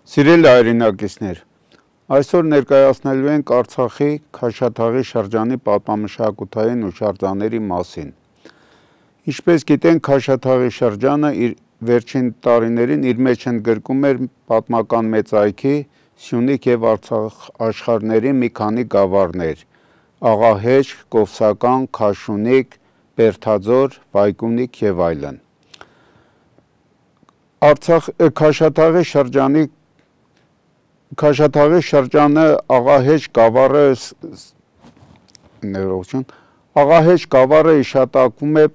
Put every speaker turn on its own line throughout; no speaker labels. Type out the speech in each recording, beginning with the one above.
Սիրելի հայրենակիցներ, այսօր ներկայացնելու ենք Արցախի Քաշաթաղի շրջանի պատմամշակութային հուշարձանների մասին։ Ինչպես գիտենք, Քաշաթաղի շրջանը իր վերջին տարիներին իր մեջ ընդգրկում էր պատմական մեծ այգի, Սյունիք և Արցախ աշխարհների մի քանի գավառներ՝ Աղահեշ, Կովսական, Քաշունիկ, Բերդաձոր, Վայգունիք և այլն։ Քաշաթաղի շրջանը Աղահեշ գավառը հիշատակվում է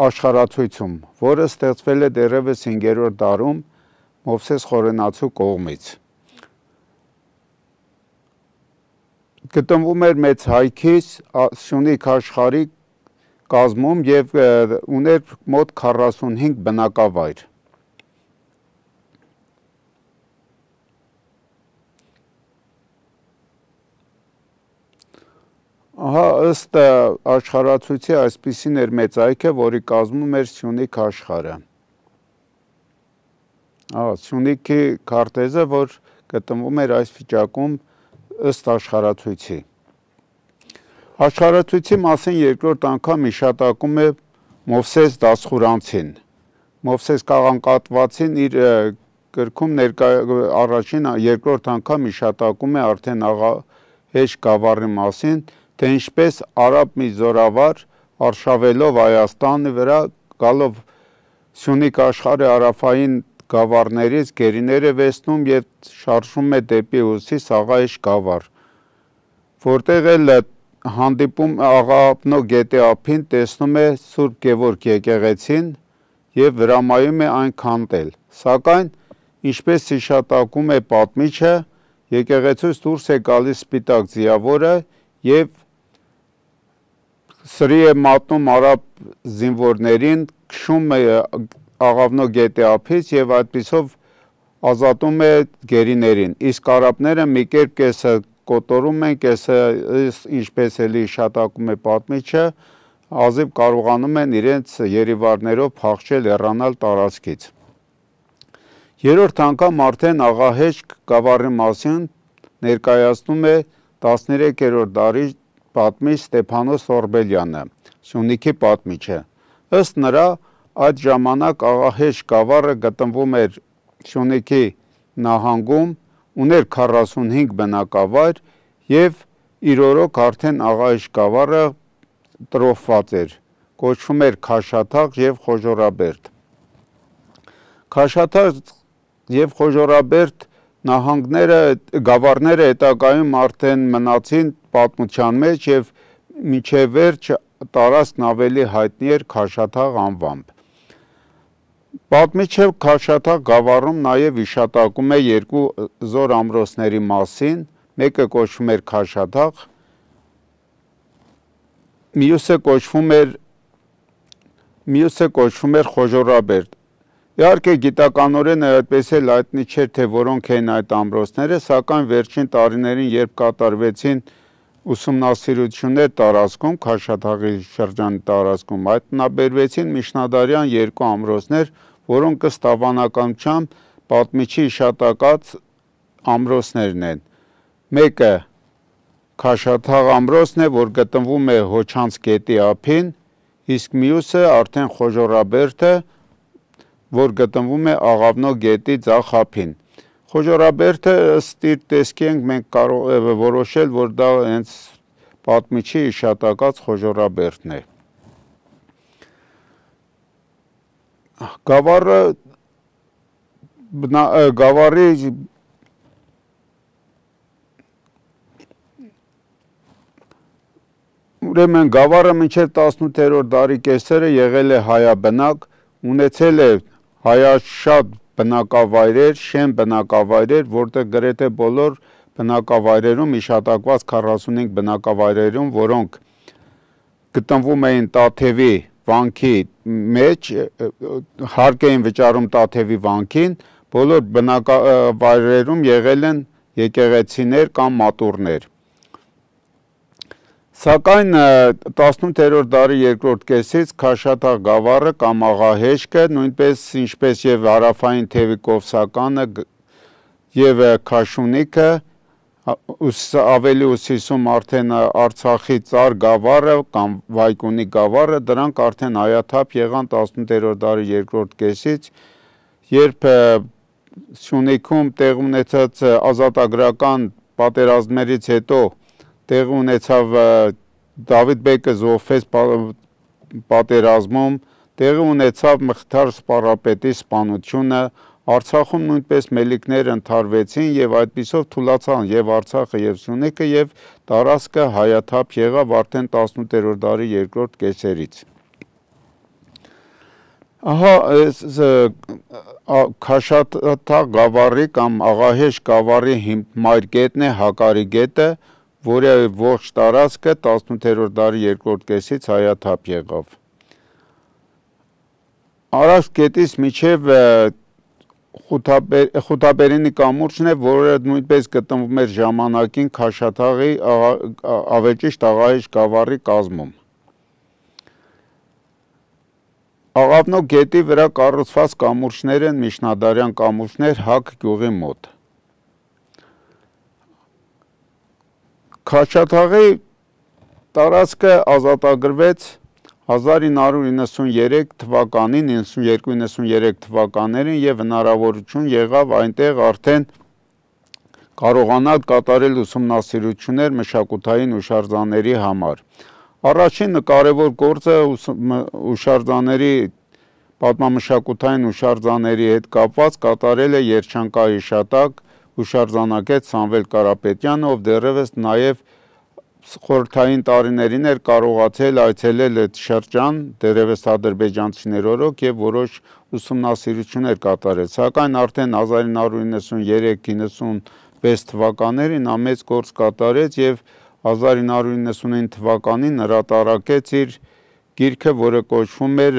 աշխարհացույցում, որը ստեղծվել է դեռևս 5-րդ դարում Մովսես Խորենացու կողմից։ Գտնվում էր մեծ հայքից Սյունիք աշխարհի կազմում և ուներ մոտ 45 բնակավայր։ Ըստ աշխարհացույցի այսպիսին էր մեծ այգը, որի կազմում էր Սյունիք աշխարհը։ Սյունիքի քարտեզը, որ գտնվում էր այս վիճակում ըստ աշխարհացույցի։ Աշխարհացույցի մասին երկրորդ անգամ հիշատակում է Մովսես Դասխուրանցին։ Մովսես Կաղանկատվացին իր գրքում երկրորդ անգամ հիշատակում է արդեն Աղահեշ գավառի մասին, թե ինչպես արաբ մի զորավար արշավելով Հայաստանի վրա, գալով Սյունիք աշխարհի հարավային գավառներից գերիներ է վերցնում և շարժվում է դեպի հյուսիս Աղահեշ գավառ, որտեղ էլ հանդիպում Աղավնո գետի ափին տեսնում է Սուրբ Գևորգ եկեղեցին և հրամայում է այն քանդել, սակայն ինչպես հիշատակում է պատմիչը, եկեղեցուց դուրս է գալիս սպիտակ ձիավորը և սրի է մատնում արաբ զինվորներին, քշում է Աղավնո գետի ափից և այդպիսով ազատում է գերիներին, իսկ արաբները մի կերպ կեսը կոտորում են, կեսը, ինչպես էլի հիշատակում է պատմիչը, հազիվ կարողանում են իրենց երիվարներով փախչել, հեռանալ տարածքից։ Երրորդ անգամ արդեն Աղահեշ գավառի մասին ներկայացնում է 13-րդ դարի պատմիչ Ստեփանոս Օրբելյանը, Սյունիքի պատմիչը։ Ըստ նրա, այդ ժամանակ Աղահեշ գավառը գտնվում էր Սյունիքի նահանգում, ուներ 45 բնակավայր և իր օրոք արդեն Աղահեշ գավառը տրոհված էր, կոչվում էր Քաշաթաղ և Խոժոռաբերդ։ Քաշաթաղ և Խոժոռաբերդ գավառները հետագայում արդեն մնացին պատմության մեջ և մինչև վերջ տարածքն ավելի հայտնի էր Քաշաթաղ անվամբ։ Պատմիչը Քաշաթաղ գավառում նաև հիշատակում է երկու զոր ամրոցների մասին, մեկը կոչվում էր Քաշաթաղ, մյուսը կոչվում էր Խոժոռաբերդ։ Իհարկե գիտականորեն այդպես էլ հայտնի չէր, թե որոնք էին այդ ամրոցները, սակայն վերջին տարիներին, երբ կատարվեցին ուսումնասիրություններ տարածքում, Քաշաթաղի շրջանի տարածքում, հայտնաբերվեցին միջնադարյան երկու ամրոցներ, որոնք ըստ հավանականության պատմիչի հիշատակած ամրոցներն են։ Մեկը Քաշաթաղ ամրոցն է, որ գտնվում է Հոչանց գետի ափին, իսկ մյուսը արդեն Խոժոռաբերդը, որ գտնվում է Աղավնո գետի ձախ ափին։ Խոժոռաբերդը ըստ իր տեսքի ենք մենք կարող ենք որոշել, որ դա հենց պատմիչի հիշատակած Խոժոռաբերդն է։ Գավառը մինչև 18-րդ դարի կեսերը եղել է հայաբնակ, ունեցել է հայաշատ բնակավայրեր, շեն բնակավայրեր, որտեղ գրեթե բոլոր բնակավայրերում հիշատակված 45 բնակավայրերում, որոնք գտնվում էին Տաթևի վանքի մեջ, հարկ էին վճարում Տաթևի վանքին, բոլոր բնակավայրերում եղել են եկեղեցիներ կամ մատուռներ։ Սակայն 18-րդ դարի երկրորդ կեսից Քաշաթաղ գավառը կամ Աղահեշքը, նույնպես ինչպես և հարավային թևի Կովսականը, եւ Քաշունիկը ավելի ուսիսում արդեն Արցախի Ծար գավառը կամ Վայկունի գավառը, դրանք արդեն հայաթափ եղան 18-րդ դարի երկրորդ կեսից, երբ Սյունիքում տեղ ունեցած ազատագրական պատերազմներից հետո տեղ ունեցավ Դավիթ բեկը զոհվեց պատերազմում, տեղի ունեցավ Մխիթար սպառապետի սպանությունը, Արցախում նույնպես մելիքները ընդհարվեցին եւ այդպիսով թուլացան եւ Արցախը եւ Սյունիքը եւ տարածքը հայաթափ եղավ արդեն 18-րդ դարի երկրորդ կեսերից։ Ահա Քաշաթաղ գավառի կամ Աղահեշ գավառի մայրկետն է Հակարի գետը, որը ողջ տարածքը 18-րդ դարի երկրորդ կեսից հայաթափ եղավ։ Արաքս գետից մինչև Խութաբերենի կամուրջն է, որը նույնպես գտնվում էր ժամանակին Քաշաթաղի ավեճիշտ Աղահեշ գավառի կազմում։ Աղավնո գետի վրա կառուցված կամուրջներ են միջնադարյան կամուրջներ Հակ գյուղի մոտ։ Քաշաթաղի տարածքը ազատագրվեց 1993 թվականին, 92-93 թվականներին եւ հնարավորություն եղավ այնտեղ արդեն կարողանալ կատարել ուսումնասիրություններ մշակութային հուշարձանների համար։ Առաջին կարևոր գործը հուշարձանների պատմամշակութային հուշարձանների հետ կապված կատարել է Երջանկա հիշատակ հուշարձանագետ Սամվել Կարապետյանը, ով դեռևս նաեւ խորհրդային տարիներին էր կարողացել այցելել այդ շրջան, դեռևս ադրբեջանցիներ օրոք եւ որոշ ուսումնասիրություններ կատարել, սակայն արդեն 1993-96 թվականներին նա մեծ գործ կատարեց եւ 1999 թվականին հրատարակեց իր գիրքը, որը կոչվում էր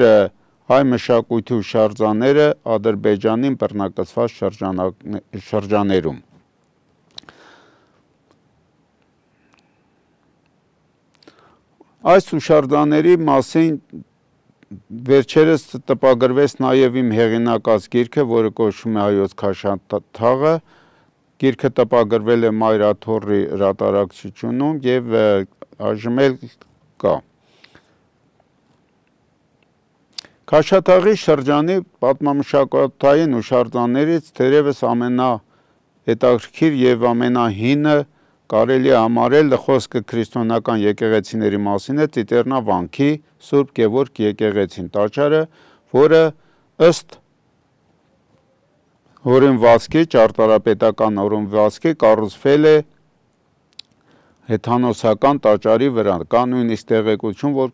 Հայ մշակույթի հուշարձանները Ադրբեջանին բռնակցված շրջաներում։ Այս հուշարձանների մասին վերջերս տպագրվեց նաև իմ հեղինակած գիրքը, որը կոչվում է Հայոց Քաշաթաղը, գիրքը տպագրվել է Մայր Աթոռի հրատարակչությունում եւ այժմ էլ կա։ Քաշաթաղի շրջանի պատմամշակութային հուշարձաններից թերևս ամենահետաքրքիր եւ ամենահինը կարելի է համարել խոսքը քրիստոնեական եկեղեցիների մասին է Ծիտեռնա վանքի Սուրբ Գևորգ եկեղեցին տաճարը, որը ըստ օրենվածքի, ճարտարապետական օրենվածքի կառուցվել է հեթանոսական տաճարի վրա, կա նույնիսկ տեղեկություն, որ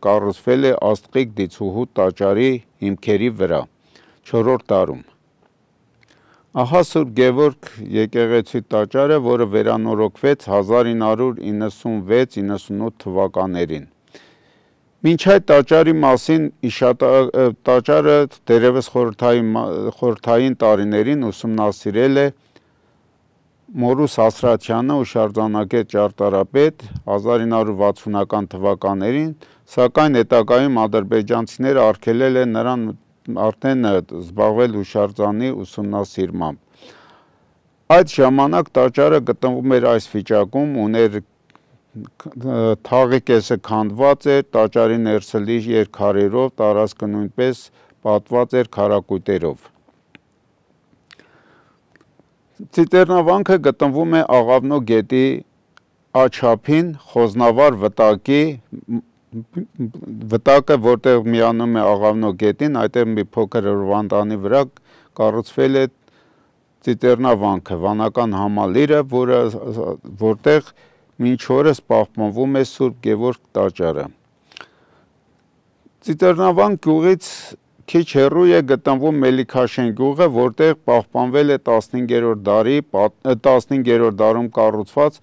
կառուցվել է Աստղիկ Դիցուհու տաճարի հիմքերի վրա 4-րդ դարում։ Ահա Սուրբ Գևորգ եկեղեցի տաճարը, որը վերանորոգվեց 1996-98 թվականներին։ Մինչ այդ տաճարի մասին տաճարը դերևս խորհրդային տարիներին ուսումնասիրել է Մորուս Ասրատյանը, հուշարձանագետ ճարտարապետ 1960-ական թվականներին, սակայն հետագայում ադրբեջանցիները արգելել են նրան արդեն զբաղվել հուշարձանի ուսումնասիրմամբ։ Այդ ժամանակ տաճարը գտնվում էր այս վիճակում, ուներ թաղի կեսը քանդված էր, տաճարի ներսը լի էր քարերով, տարածքը նույնպես պատված էր քարակույտերով։ Ծիտեռնավանքը գտնվում է Աղավնո գետի աջափին, Խոզնավար վտակը, որտեղ միանում է Աղավնո գետին, այդտեղ մի փոքր հրվանդանի վրա կառուցվել է Ծիտեռնավանքը, վանական համալիրը, որտեղ մինչ օրս պահպանվում է Սուրբ Գևորգ տաճարը։ Ծիտեռնավան գյուղից քիչ հեռու է գտնվում Մելիքաշեն գյուղը, որտեղ պահպանվել է 15-րդ դարում կառուցված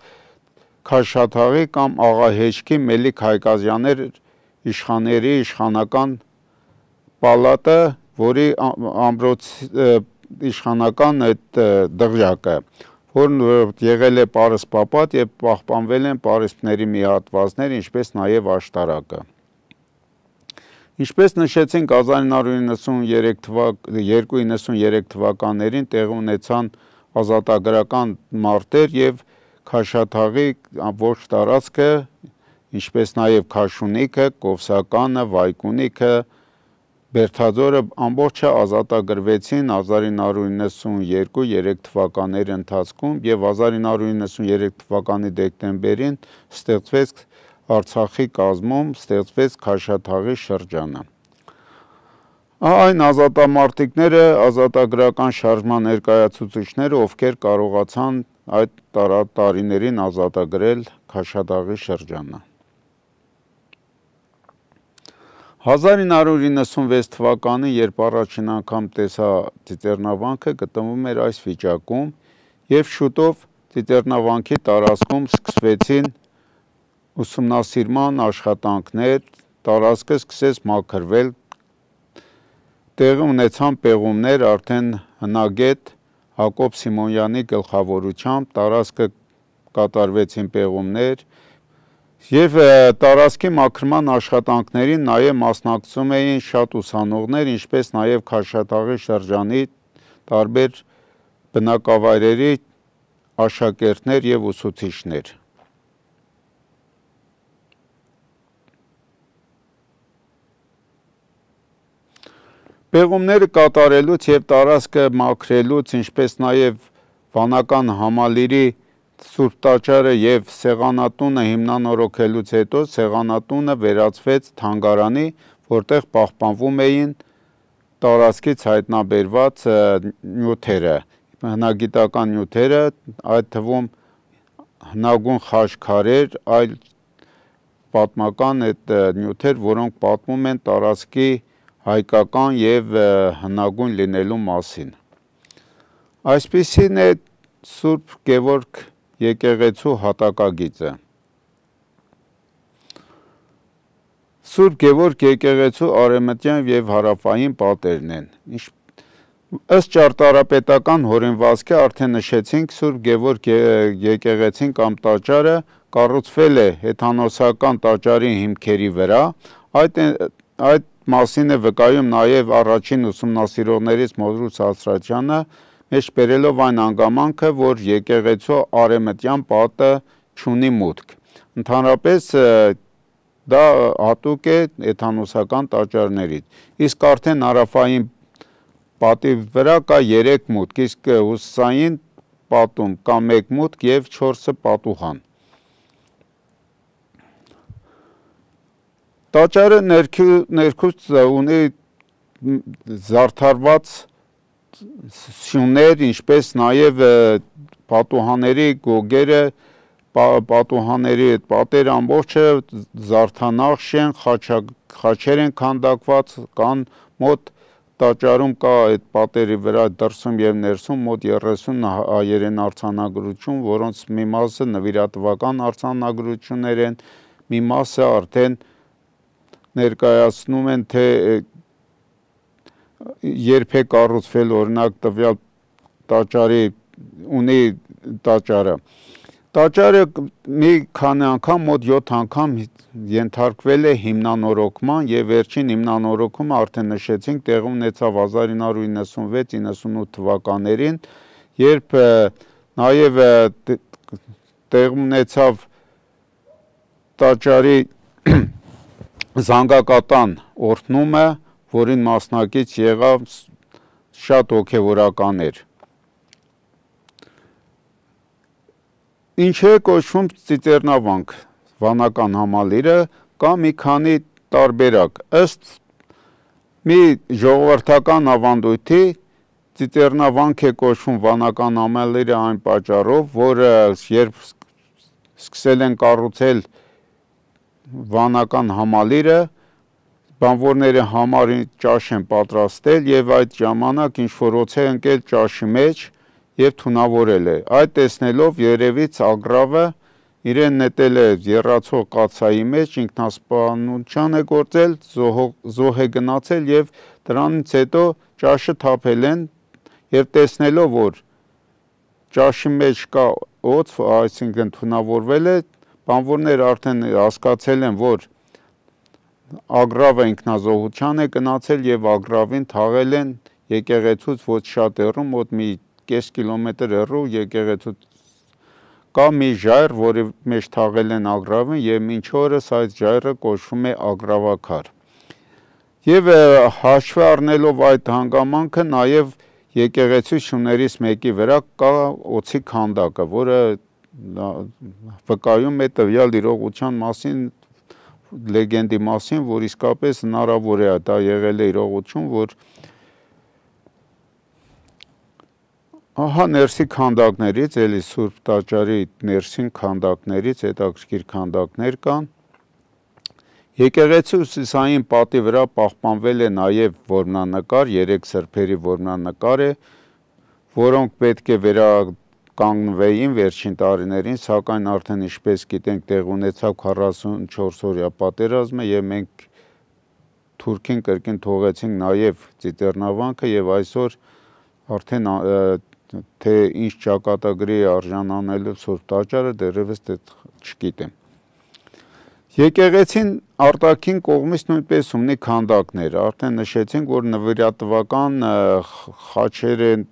Քաշաթաղի կամ Աղահեշքի Մելիք Հայկազյաններ իշխանների իշխանական պալատը, որի իշխանական այդ դղյակը, որն եղել է պարսպապատ եւ պահպանվել են պարիսպների մի հատվածներ, ինչպես նաեւ աշտարակը։ Ինչպես նշեցինք 1992-93 թվականներին տեղի ունեցան ազատագրական մարտեր եւ Քաշաթաղի ամբողջ տարածքը, ինչպես նաև Քաշունիքը, Կովսականը, Վայկունիքը, Բերթաձորը ամբողջը ազատագրվեցին 1992-3 թվականների ընթացքում եւ 1993 թվականի դեկտեմբերին ստեղծվեց Արցախի կազմում ստեղծվեց Քաշաթաղի շրջանը։ Այն ազատամարտիկները, ազատագրական շարժման ներկայացուցիչները, ովքեր կարողացան այդ տարիներին ազատագրել Քաշաթաղի շրջանը։ 1996 թվականին, երբ առաջին անգամ տեսա Ծիծեռնավանքը, գտնվում էր այս վիճակում եւ շուտով Ծիծեռնավանքի տարածքում սկսվեցին ուսումնասիրման աշխատանքներ, տարածքը սկսեց մաքրվել, տեղի ունեցան պեղումներ արդեն հնագետ Հակոբ Սիմոնյանի գլխավորությամբ, տարածքը կատարվեցին պեղումներ եւ տարածքի մաքրման աշխատանքներին նաեւ մասնակցում էին շատ ուսանողներ, ինչպես նաեւ Քաշաթաղի շրջանի տարբեր բնակավայրերի աշակերտներ եւ ուսուցիչներ։ Պեղումները կատարելուց եւ տարածքը մաքրելուց, ինչպես նաեւ վանական համալիրի Սուրբ Տաճարը եւ Սեղանատունը հիմնանորոգելուց հետո Սեղանատունը վերածվեց թանգարանի, որտեղ պահպանվում էին տարածքից հայտնաբերված նյութերը, հնագիտական նյութերը, այդ թվում հնագույն խաչքարեր, այլ պատմական այդ նյութեր, որոնք պատմում են տարածքի հայկական եւ հնագույն լինելու մասին։ Այսպիսին է Սուրբ Գևորգ եկեղեցու հատակագիծը։ Սուրբ Գևորգ եկեղեցու արևմտյան եւ հարավային պատերն են։ Ըստ ճարտարապետական հորինվածքի արդեն նշեցինք, Սուրբ Գևորգ եկեղեցին կամ տաճարը կառուցվել է հեթանոսական տաճարի հիմքերի վրա։ Այդ մասին է վկայում նաև առաջին ուսումնասիրողներից Մովրուց Ասրատյանը, մեջ բերելով այն հանգամանքը, որ եկեղեցու արևմտյան պատը չունի մուտք։ Ընդհանրապես դա հատուկ է հեթանոսական տաճարներից։ Իսկ արդեն հարավային պատի վրա կա 3 մուտք, իսկ հյուսիսային պատում կա 1 մուտք եւ 4-ը պատուհան։ Տաճարը ներքուց ունի զարդարված սյուներ, ինչպես նաև պատուհանների գոգերը, պատուհանների պատերը ամբողջը զարդանախշ են, խաչեր են քանդակված, կան մոտ տաճարում կա այդ պատերի վրա դրսում եւ ներսում մոտ 30 հայերեն արձանագրություն, որոնց մի մասը նվիրատվական արձանագրություններ են, մի մասը արդեն ներկայացնում են, թե երբ է կառուցվել օրինակ տվյալ տաճարի ունի տաճարը։ Տաճարը մի քանի անգամ, մոտ 7 անգամ ենթարկվել է հիմնանորոգման եւ վերջին հիմնանորոգումը արդեն նշեցինք տեղի ունեցավ 1996-98 թվականներին, երբ նաեւ տեղի ունեցավ տաճարի զանգակատան օրհնումը, որին մասնակից եղավ շատ հոգևորականներ։ Ինչ է կոչվում Ծիծեռնավանք, վանական համալիրը, կա մի քանի տարբերակ։ Ըստ մի ժողովրդական ավանդույթի Ծիծեռնավանք է կոչվում վանական համալիրը այն պատճառով, որ երբ սկսել են կառուցել վանական համալիրը, բանվորները համարի ճաշ են պատրաստել եւ այդ ժամանակ ինչ-որ օձ է ընկել ճաշի մեջ եւ թունավորել է։ Այդ տեսնելով երևից ագռավը իրեն նետել է եռացող կաթսայի մեջ, ինքնասպանության է գործել, զոհ է գնացել եւ դրանից հետո ճաշը թափել են եւ տեսնելով որ ճաշի մեջ կա օձ, այսինքն թունավորվել է, բանվորները արդեն հասկացել են, որ ագռավը ինքնազոհության է գնացել եւ ագռավին թաղել են եկեղեցուց ոչ շատ հեռու, մոտ մի կես կիլոմետր հեռու եկեղեցու կա մի ժայռ, որի մեջ թաղել են ագրավին եւ մինչ օրս այդ ժայռը կոչվում է ագրավաքար։ Եվ հաշվի առնելով այդ հանգամանքը նաև եկեղեցու շուներից մեկի վրա կա օձի քանդակը, որը վկայում է տվյալ իրողության մասին, լեգենդի մասին, որ իսկապես հնարավոր է դա եղել է իրողություն, որ ահա ներսի քանդակներից, էլի Սուրբ տաճարի ներսին քանդակներից հետաքրքիր քանդակներ կան։ Եկեղեցու հյուսիսային պատի վրա պահպանվել է նաև որմնանկար, 3 սրբերի որմնանկար է, որոնք պետք է վերականգնվեին վերջին տարիներին, սակայն արդեն ինչպես գիտենք տեղ ունեցավ 44-օրյա պատերազմը եւ մենք Թուրքին կրկին թողեցինք նաև Ծիծեռնավանքը եւ այսօր արդեն թե ինչ ճակատագրի արժանանելու Սուրբ տաճարը դեռևս չգիտեմ։ Եկեղեցին արտաքին կողմից նույնպես ունի քանդակներ, արդեն նշեցինք, որ նվիրատվական խաչեր են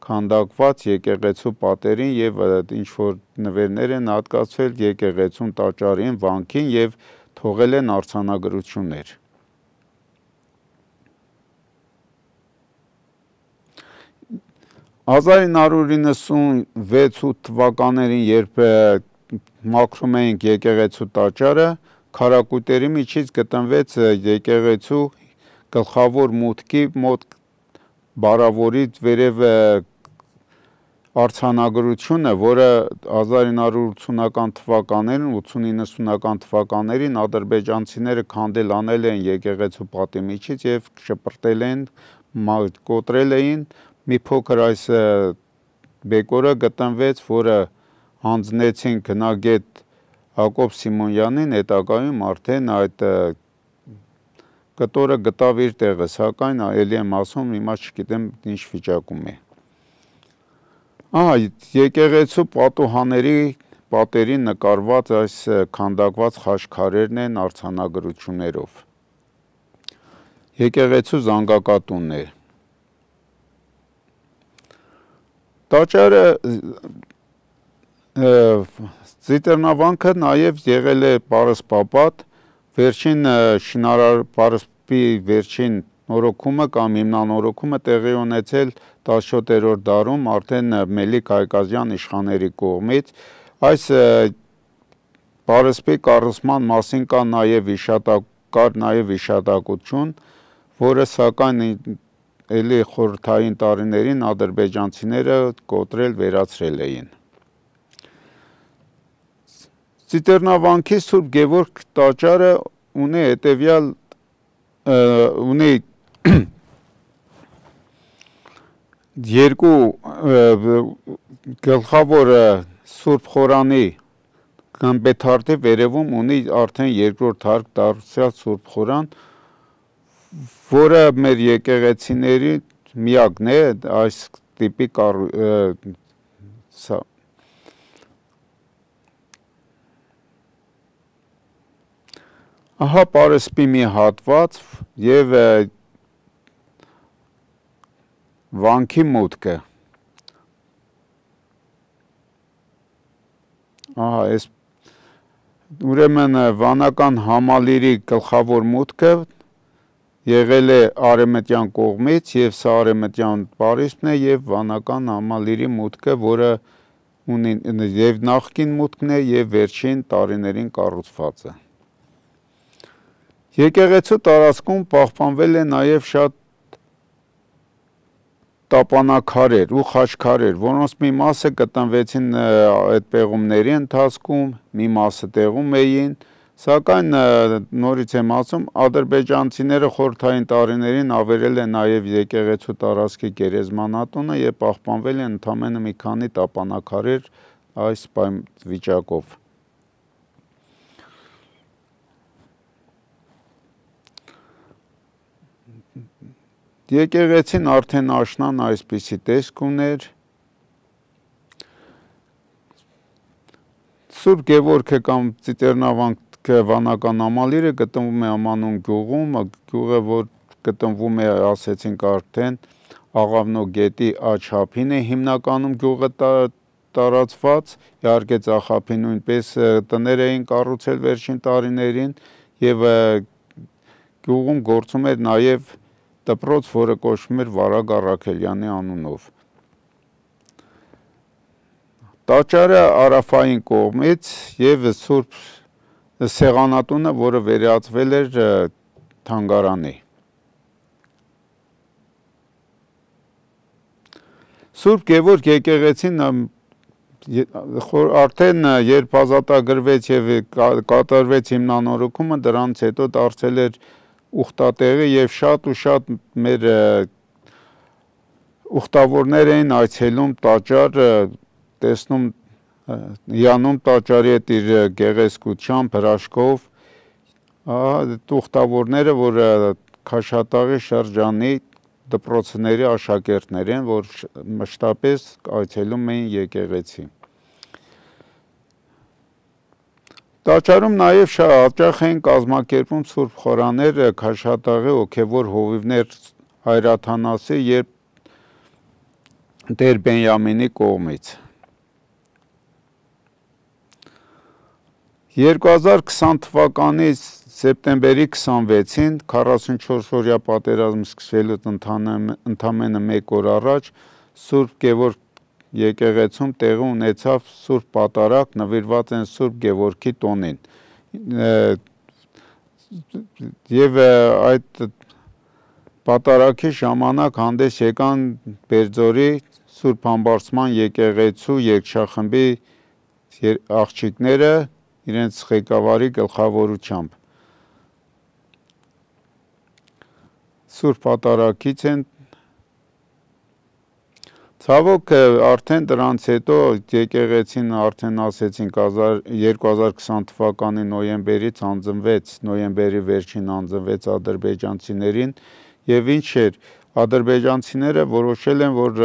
քանդակված եկեղեցու պատերին եւ ինչ որ նվերներ են հատկացվել եկեղեցուն տաճարին, վանքին եւ թողել են արձանագրություններ։ 1996 թվականներին, երբ մաքրում էինք եկեղեցու տաճարը, քարակույտերի միջից գտնվեց եկեղեցու գլխավոր մուտքի մոտ բարավորից վերև արձանագրությունը, որը 1980-ական թվականներին, 80-90-ական թվականներին ադրբեջանցիները քանդել անել են եկեղեցու պատի միջից եւ շպրտել են, կոտրել էին, մի փոքր այս բեկորը գտնվեց, որը հանձնեցին գնագետ Հակոբ Սիմոնյանին, հետագայում արդեն այդ կտորը գտավ իր տեղը, սակայն էլի եմ ասում, հիմա չգիտեմ ինչ վիճակում է։ Ահա եկեղեցու պատուհանների պատերին նկարված այս քանդակված խաչքարերն են արձանագրություններով։ Եկեղեցու զանգակատունն է։ Տաճարը Ծիծեռնավանքը նաև եղել է պարսպապատ, վերջին պարսպի վերջին նորոգումը կամ հիմնանորոգումը տեղի ունեցել 17-րդ դարում արդեն Մելիք Հայկազյան իշխանների կողմից։ Այս պարսպի կառուցման մասին կա նաև հիշատակություն, որը սակայն էլի խորհրդային տարիներին ադրբեջանցիները կոտրել վերացրել էին։ Ծիծեռնավանքի Սուրբ Գևորգ տաճարը ունի հետևյալ երկու գլխավոր Սուրբ խորանի գմբեթարդի վերևում ունի արդեն երկրորդ հարկ դարձյալ Սուրբ խորան, որը մեր եկեղեցիների միակն է այս տիպի Ահա պարսպի մի հատված եւ վանքի մուտքը։ Ահա այս ուրեմն վանական համալիրի գլխավոր մուտքը եղել է արևմտյան կողմից եւ սա արևմտյան պարիսպն է եւ վանական համալիրի մուտքը, որը ունի եւ նախկին մուտքն է եւ վերջին տարիներին կառուցվածը։ Եկեղեցու տարածքում պահպանվել է նաև շատ տապանաքարեր ու խաչքարեր, որոնց մի մասը գտնվեցին այդ պեղումների ընթացքում, մի մասը տեղում էին, սակայն նորից եմ ասում, ադրբեջանցիները խորհրդային տարիներին ավերել են նաև եկեղեցու տարածքի գերեզմանատունը եւ պահպանվել են ընդամենը մի քանի տապանաքարեր այս վիճակով։ Եկեղեցին արդեն աշնան այսպիսի տեսք ուներ։ Սուրբ Գևորգը կամ Ծիծեռնավանքը վանական համալիրը գտնվում է Ամանուն գյուղում, գյուղը, որ գտնվում է, ասեցինք արդեն, Աղավնո գետի աչափին է հիմնականում գյուղը տարածված, իհարկե ծախափին նույնպես տներ էին կառուցել վերջին տարիներին եւ գյուղում գործում էր նաեւ դպրոց, որը կոչվում էր Վարագ Առաքելյանի անունով։ Տաճարը հարավային կողմից եւ Սուրբ Սեղանատունը, որը վերածվել էր թանգարանի։ Սուրբ Գևորգ եկեղեցին արդեն երբ ազատագրվեց եւ կատարվեց հիմնանորոգումը, դրանից հետո դարձել էր ուխտատեղի եւ շատ մեր ուխտավորներ էին այցելում տաճար, տեսնում հիանում տաճարի հետ իր գեղեցկությամբ, հրաշքով, ուխտավորները, որ Քաշաթաղի շրջանի դպրոցների աշակերտներ են, որ մշտապես այցելում էին եկեղեցի։ Տաճարում նաև շատ հաճախ էին կազմակերպում սուրբ խորաներ Քաշաթաղի հոգևոր հովիվներ Հայրաթանասի եւ Տեր Բենյամինի կողմից։ 2020 թվականի սեպտեմբերի 26-ին 44-օրյա պատերազմ սկսվելուց ընդամենը մեկ օր առաջ Սուրբ Գևորգ եկեղեցում տեղի ունեցավ Սուրբ Պատարագ, նվիրված են Սուրբ Գևորգի տոնին։ Եվ այդ պատարագի ժամանակ հանդես եկան Բերձորի Սուրբ Համբարձման եկեղեցու երգչախմբի աղջիկները իրենց ղեկավարի գլխավորությամբ։ Սուրբ Պատարագից են ցավոք արդեն դրանից հետո եկեղեցին արդեն ասեցինք 2020 թվականի նոյեմբերից նոյեմբերի վերջին անձնվեց ադրբեջանցիներին եւ ինչ էր ադրբեջանցիները որոշել են որ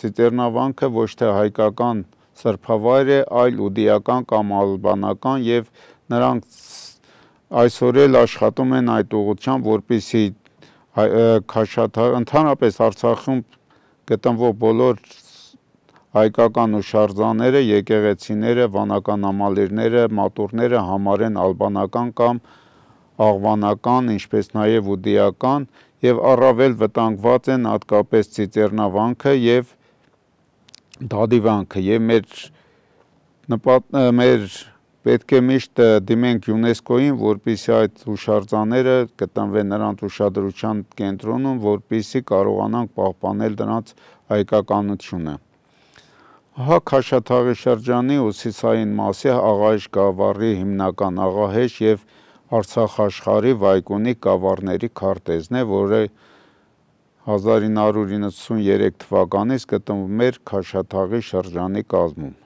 Ծիծեռնավանքը ոչ թե հայկական սրբավայր է, այլ ուդիական կամ ալբանական եւ նրանք այսօր էլ աշխատում են այդ ուղղությամբ, որպեսզի ընդհանրապես Արցախում գտնվող բոլոր հայկական հուշարձանները, եկեղեցիները, վանական համալիրները, մատուռները համարեն ալբանական կամ աղվանական, ինչպես նաեւ ուդիական եւ առավել վտանգված են հատկապես Ծիծեռնավանքը եւ Դադիվանքը եւ մեր պետք է միշտ դիմենք ՅՈՒՆԵՍԿՕ-ին, որպեսզի այդ հուշարձանները գտնվեն նրանց ուշադրության կենտրոնում, որպեսզի կարողանանք պահպանել դրանց հայկականությունը։ Ահա Քաշաթաղի շրջանի հյուսիսային մասի Աղահեշ գավառի հիմնական Աղահեշ եւ Արցախ աշխարհի Վայկունի գավառների քարտեզն է, որը 1993 թվականից գտնվում էր Քաշաթաղի շրջանի կազմում։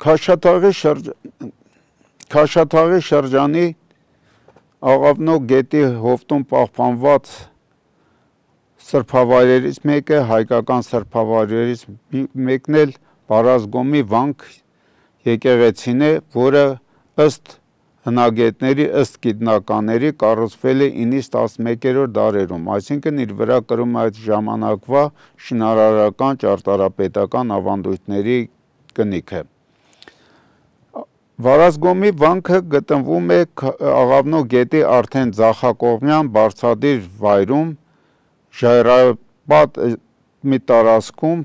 Քաշաթաղի շրջանի Աղավնո գետի հովտում պահպանված սրբավայրերից մեկը, հայկական սրբավայրերից մեկն էլ Վարազգոմի վանք եկեղեցին է, որը ըստ հնագետների, ըստ գիտնականների կառուցվել է 9-ից 11-րդ դարերում, այսինքն իր վրա կրում է այդ ժամանակվա շինարարական, ճարտարապետական ավանդույթների կնիքը։ Վարազգոմի վանքը գտնվում է Աղավնո գետի արդեն ձախակողմյան բարձրադիր վայրում, ժայռապատ մի տարածքում,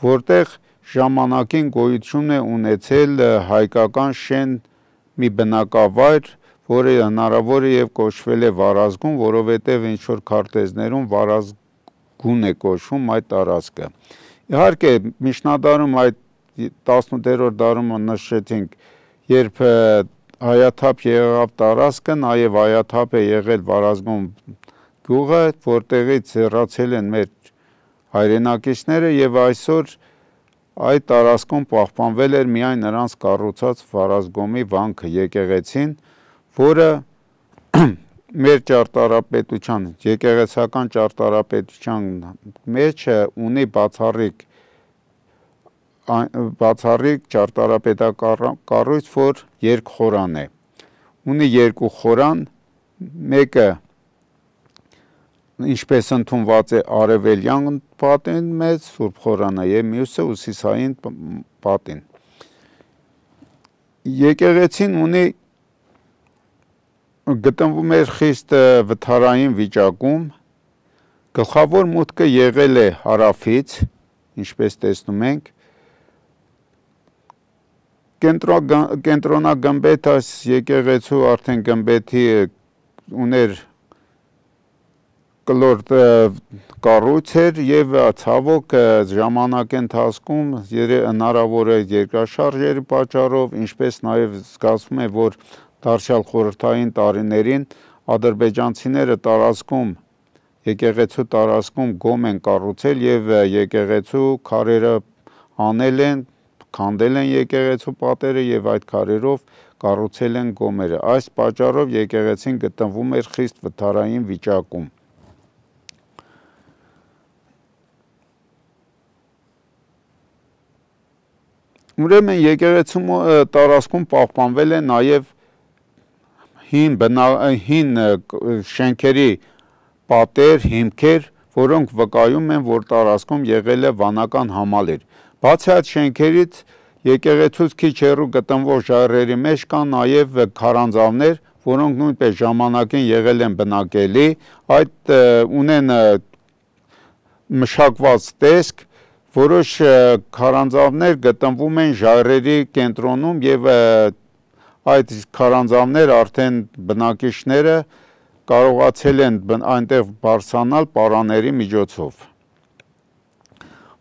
որտեղ ժամանակին գոյություն է ունեցել հայկական շեն մի բնակավայր, որը հնարավոր է եւ կոչվել է Վարազգուն, որովհետեւ ինչ որ քարտեզներում Վարազգուն է կոչվում այդ տարածքը։ Իհարկե միջնադարում այդ 18-րդ դարում նշեցինք, երբ հայաթափ եղավ տարածքը, նաև հայաթափ է եղել Վարազգոմ գյուղը, որտեղից հեռացել են մեր հայրենակիցները եւ այսօր այդ տարածքում պահպանվել էր միայն նրանց կառուցած Վարազգոմի վանքը եկեղեցին, որը մեր ճարտարապետության, եկեղեցական ճարտարապետության մեջ ունի բացառիկ ճարտարապետակառույց, որ երկխորան է։ Ունի երկու խորան, մեկը ինչպես ընդունված է արևելյան պատին մեծ Սուրբ խորանը եւ մյուսը հյուսիսային պատին։ Եկեղեցին գտնվում էր խիստ վթարային վիճակում, գլխավոր մուտքը եղել է հարավից, ինչպես տեսնում ենք, կենտրոնագմբեթ այս եկեղեցու արդեն գմբեթի ուներ կլոր կառույց էր եւ ցավոք ժամանակի ընթացքում հնարավոր է երկրաշարժերի պատճառով, ինչպես նաեւ զգացվում է, որ դարձյալ խորհրդային տարիներին ադրբեջանցիները տարածքում եկեղեցու տարածքում գոմ են կառուցել եւ եկեղեցու քարերը անել են, քանդել են եկեղեցու պատերը եւ այդ քարերով կառուցել են գոմերը։ Այս պատճառով եկեղեցին գտնվում էր խիստ վթարային վիճակում։ Ուրեմն եկեղեցու տարածքում պահպանվել է նաև հին շենքերի պատեր, հիմքեր, որոնք վկայում են, որ տարածքում եղել է վանական համալիր։ Բացի այդ շենքերից եկեղեցուց քիչ հեռու գտնվող ժայռերի մեջ կան նաև քարանձավներ, որոնք նույնպես ժամանակին եղել են բնակելի, այդ ունեն մշակված տեսք, որոշ քարանձավներ գտնվում են ժայռերի կենտրոնում եւ այդ քարանձավներ արդեն բնակիչները կարողացել են այնտեղ բարձրանալ պարաների միջոցով։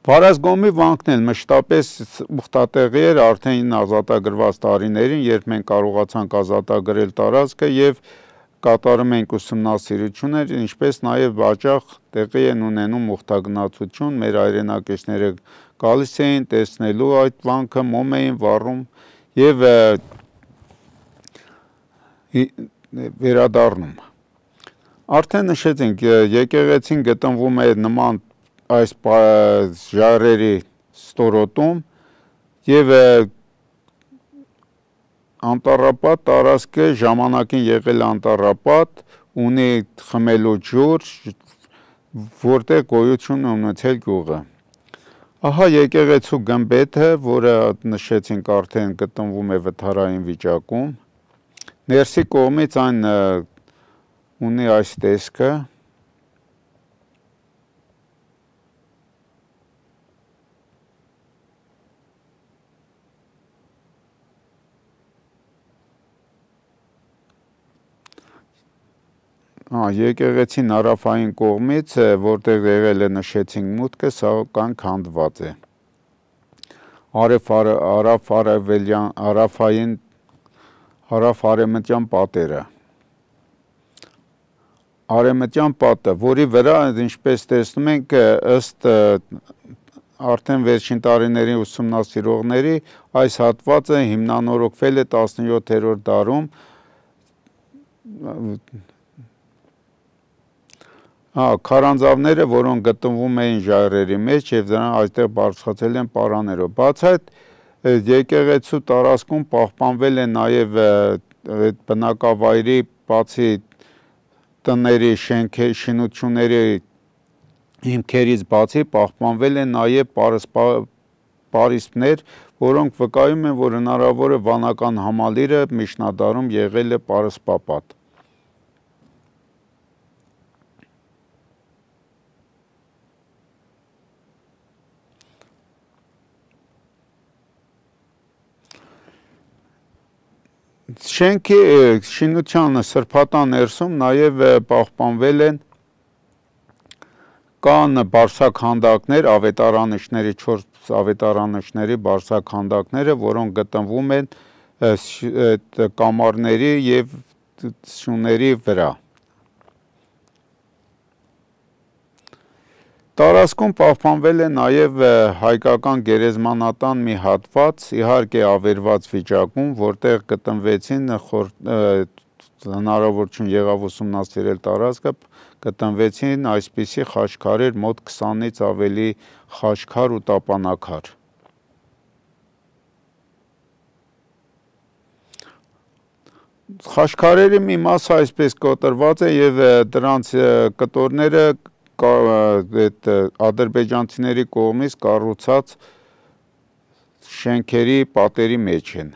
Վարազգոմի վանքն էլ մշտապես ուխտատեղի էր արդեն ազատագրված տարիներին, երբ մենք կարողացանք ազատագրել տարածքը եւ կատարում ենք ուսումնասիրություններ, ինչպես նաև հաճախ տեղի են ունենում ուխտագնացություն, մեր հայրենակիցները գալիս էին տեսնելու այդ վանքը, մոմ էին վառում եւ վերադառնում։ Արդեն նշեցինք, եկեղեցին գտնվում է նման այս ժայռերի ստորոտում եւ անտառապատ տարածքը ժամանակին եղել անտառապատ, ունի խմելու ջուր, որտեղ գոյություն ունեցել գյուղը։ Ահա եկեղեցու գմբեթը, որը նշեցինք արդեն գտնվում է վթարային վիճակում, ներսի կողմից այն ունի այս տեսքը, եկեղեցին հարավային կողմից, որտեղ եղել է նշեցինք մուտքը, սակայն քանդված է։ Հարավ-արևմտյան պատերը։ Արևմտյան պատը, որի վրա, ինչպես տեսնում ենք, ըստ արդեն վերջին տարիների ուսումնասիրողների, այս հատվածը հիմնանորոգվել է 17-րդ դարում, քարանձավները, որոնք գտնվում էին ժայռերի մեջ եւ դրանք այդտեղ բարձրացել են պարաներով։ Բաց այդ եկեղեցու տարածքում պահպանվել է նաեւ բնակավայրի բացի տների, շինությունների հիմքերից բացի պահպանվել են նաեւ պարիսպներ, որոնք վկայում են, որ հնարավոր է վանական համալիրը միջնադարում եղել է պարսպապատ։ Շենքի շինության սրբատան ներսում նաև պահպանվել են Կան բարձրաքանդակներ, ավետարանիչների 4 ավետարանիչների բարձրաքանդակները, որոնք գտնվում են կամարների եւ սյուների վրա։ Տարածքում պահպանվել է նաև հայկական գերեզմանատան մի հատված, իհարկե ավերված վիճակում, որտեղ գտնվեցին հնարավորություն եղավ ուսումնասիրել տարածքը, գտնվեցին այսպիսի խաչքարեր, մոտ 20-ից ավելի խաչքար ու տապանակար։ Խաչքարերի մի մասը այսպես կոտրված է եւ դրանց կտորները ադրբեջանցիների կողմից կառուցած շենքերի պատերի մեջ են։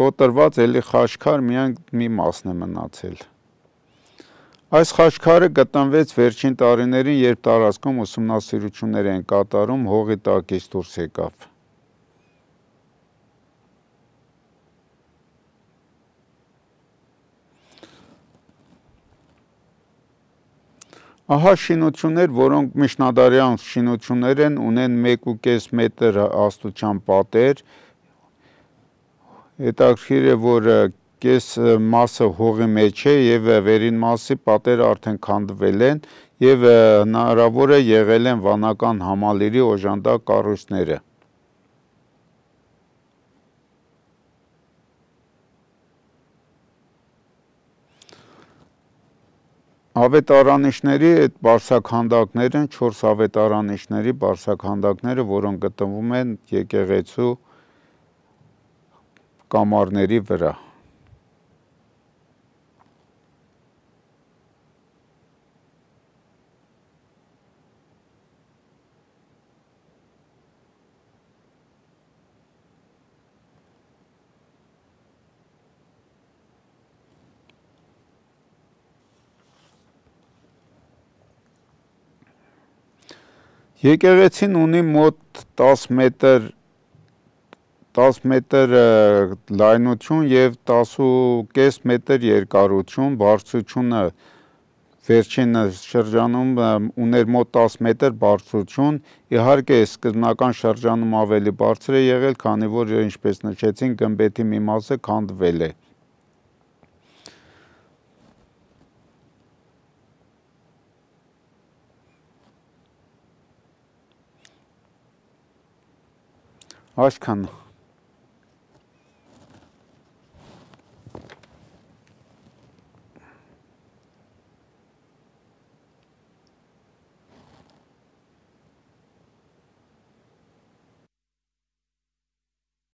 Կոտրված էլի խաչքար միայն մի մասն է մնացել։ Այս խաչքարը գտնվեց վերջին տարիներին, երբ տարածքում ուսումնասիրություններ են կատարում, հողի տակից դուրս եկավ։ Ահա շինություններ, որոնք միջնադարյան շինություններ են, ունեն 1.5 մետր հաստության պատեր։ Հետաքրքիր է, որ կես մասը հողի մեջ է եւ վերին մասի պատերը արդեն քանդվել են եւ հնարավոր է եղել են վանական համալիրի օժանդակ կառույցները։ Ավետարանիչների այդ բարձրաքանդակներ են 4 ավետարանիչների բարձրաքանդակները, որոնք գտնվում են եկեղեցու կամարների վրա։ Եկեղեցին ունի մոտ 10 մետր լայնություն եւ 10.5 մետր երկարություն, բարձրությունը վերջին շրջանում ուներ մոտ 10 մետր բարձրություն, իհարկե սկզբնական շրջանում ավելի բարձր է եղել, քանի որ ինչպես նշեցին, գմբեթի մի մասը քանդվել է։ Այսքան